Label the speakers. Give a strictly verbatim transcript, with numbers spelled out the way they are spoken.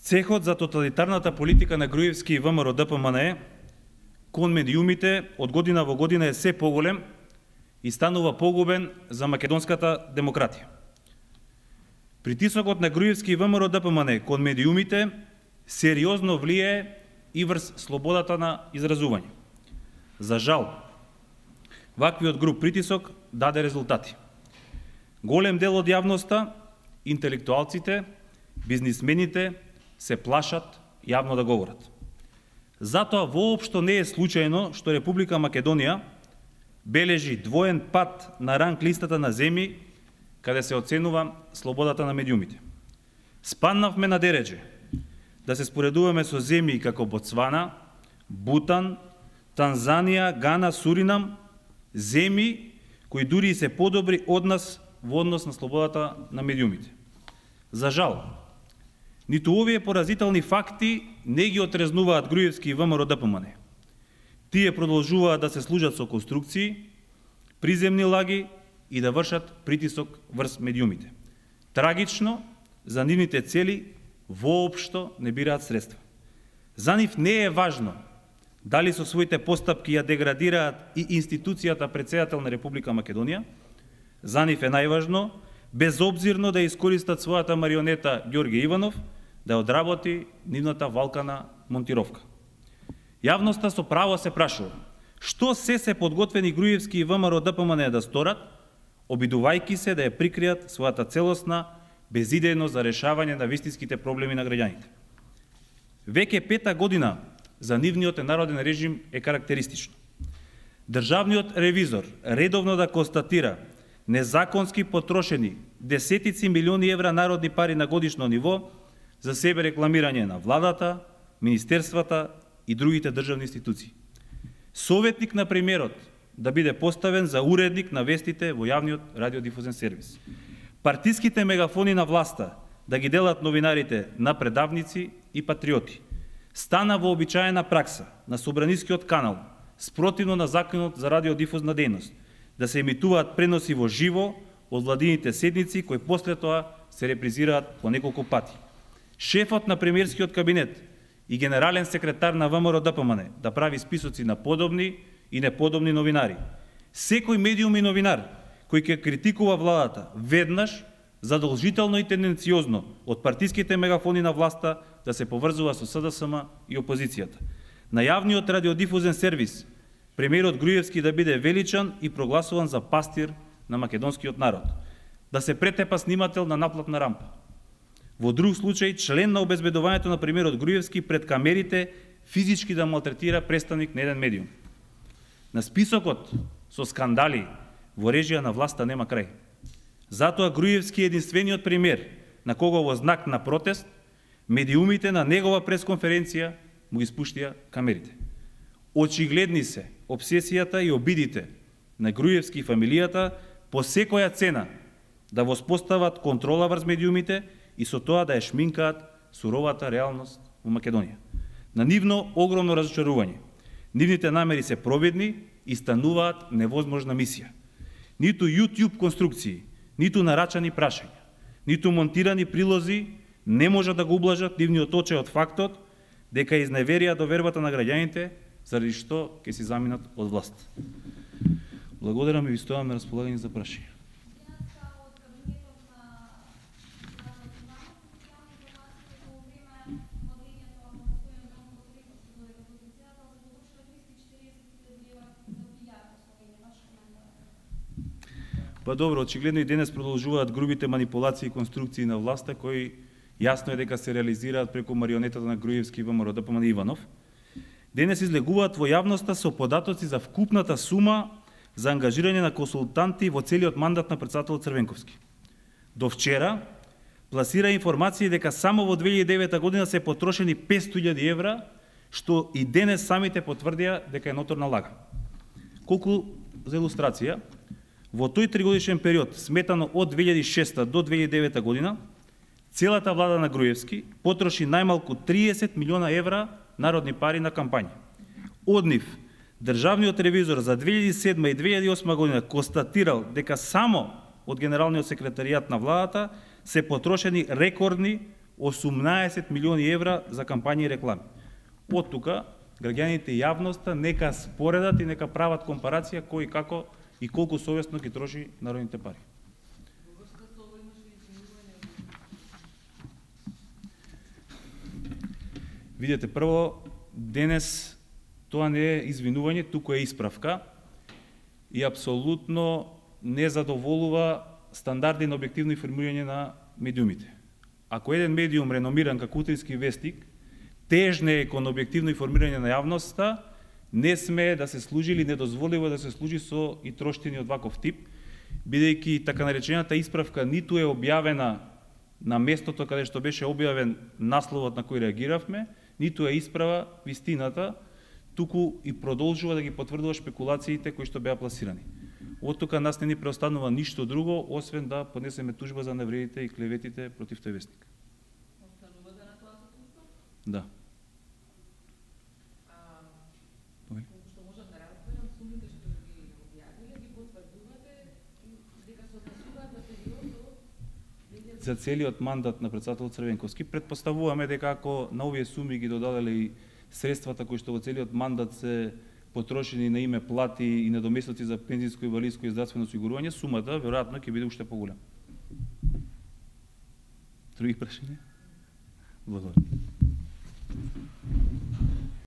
Speaker 1: Цехот за тоталитарната политика на Груевски и ВМРО Д П М Н кон медиумите од година во година е се поголем и станува погубен за македонската демократија. Притисокот на Груевски и ВМРО Д П М Н кон медиумите сериозно влијае и врз слободата на изразување. За жал, ваквиот груб притисок даде резултати. Голем дел од јавноста, интелектуалците, бизнисмените се плашат јавно да говорат. Затоа воопшто не е случајно што Република Македонија бележи двоен пат на ранг листата на земји каде се оценува слободата на медиумите. Спаднавме на дередже да се споредуваме со земји како Ботсвана, Бутан, Танзанија, Гана, Суринам, земји кои дури и се подобри од нас во однос на слободата на медиумите. За жал, ниту овие поразителни факти не ги отрезнуваат Груевски и ВМРО Д П М Н. Тие продолжуваат да се служат со конструкции, приземни лаги и да вршат притисок врз медиумите. Трагично, за нивните цели воопшто не бираат средства. За нив не е важно дали со своите постапки ја деградираат и институцијата председател на Република Македонија. За нив е најважно, безобзирно да искористат својата марионета Ѓорѓе Иванов да одработи нивната валкана монтировка. Јавноста со право се прашува што се се подготвени Груевски и ВМРО Д П М Н да сторат, обидувајќи се да ја прикријат својата целосна безидејност за решавање на вистинските проблеми на граѓаните. Веќе пета година за нивниот народен режим е карактеристично. Државниот ревизор редовно да констатира незаконски потрошени десетици милиони евра народни пари на годишно ниво за себе рекламирање на владата, министерствата и другите државни институции. Советник на премиерот да биде поставен за уредник на вестите во јавниот радиодифузен сервис. Партиските мегафони на власта да ги делат новинарите на предавници и патриоти. Стана вообичаена пракса на Собранискиот канал, спротивно на законот за радиодифузна дејност, да се емитуваат преноси во живо од владините седници, кои после тоа се репризираат по неколку пати. Шефот на премиерскиот кабинет и генерален секретар на ВМРО Д П М Н да прави списоци на подобни и неподобни новинари. Секој медиум и новинар кој ќе критикува владата веднаш, задолжително и тенденциозно од партиските мегафони на власта да се поврзува со С Д С М и опозицијата. На јавниот радиодифузен сервис премиерот Груевски да биде величан и прогласуван за пастир на македонскиот народ. Да се претепа снимател на наплатна рампа. Во друг случај, член на обезбедувањето на премиерот Груевски пред камерите физички да малтретира представник на еден медиум. На списокот со скандали во режија на власта нема крај. Затоа Груевски е единствениот премиер на кого во знак на протест медиумите на негова пресконференција му ги спуштија камерите. Очигледни се обсесијата и обидите на Груевски и фамилијата по секоја цена да воспостават контрола врз медиумите и со тоа да ја шминкаат суровата реалност во Македонија. На нивно огромно разочарување. Нивните намери се провидни и стануваат невозможна мисија. Ниту YouTube конструкции, ниту нарачани прашања, ниту монтирани прилози не можат да го ублажат нивниот очај од фактот дека изневерија довербата на граѓаните заради што ќе си заминат од власт. Благодарам и ви стојам на располагање за прашања. Па добро, очигледно и денес продолжуваат грубите манипулации и конструкции на власта, кои јасно е дека се реализираат преку марионетата на Груевски и ВМРО Д П М Н Иванов. Денес излегуваат во јавноста со податоци за вкупната сума за ангажирање на консултанти во целиот мандат на претседателот Црвенковски. До вчера пласира информации дека само во две илјади и девета година се потрошени петстотини илјади евра, што и денес самите потврдија дека е ноторна лага. Колку за илустрација, во тој тригодишен период, сметано од две илјади и шеста до две илјади и девета година, целата влада на Груевски потроши најмалку триесет милиона евра народни пари на кампања. Од нив, државниот ревизор за две илјади и седма и две илјади и осма година констатирал дека само од Генералниот секретаријат на владата се потрошени рекордни осумнаесет милиони евра за кампањи и реклами. Од тука, граѓаните и јавноста нека споредат и нека прават компарација кој како и колку совесно ги троши народните пари. Видете, прво, денес тоа не е извинување, туку е исправка и апсолутно не задоволува стандарди на објективно информирање на медиумите. Ако еден медиум реномиран како Утрински вестник тежне кон објективно информирање на јавноста, не смее да се служи или не дозволива да се служи со и троштини од ваков тип, бидејќи така наречената исправка ниту е објавена на местото каде што беше објавен насловот на кој реагиравме, ниту е исправа вистината, туку и продолжува да ги потврдува шпекулациите кои што беа пласирани. Од тука нас не ни преостанува ништо друго, освен да поднесеме тужба за навредите и клеветите против тој вестник.
Speaker 2: Останувате на тоа со тужба?
Speaker 1: Да.
Speaker 2: Колку што можам да разберам, сумите што ги објавиле, ги потврдувате дека се однесуваат на периодот
Speaker 1: за целиот мандат на претседателот Црвенковски. Предпоставуваме дека ако на овие суми ги додадале и средствата кои што во целиот мандат се потрошени на име плати и недоместоци за пензиско, инвалидско и здравствено осигурување, сумата веројатно ќе биде уште поголема. Други прашања? Благодарам.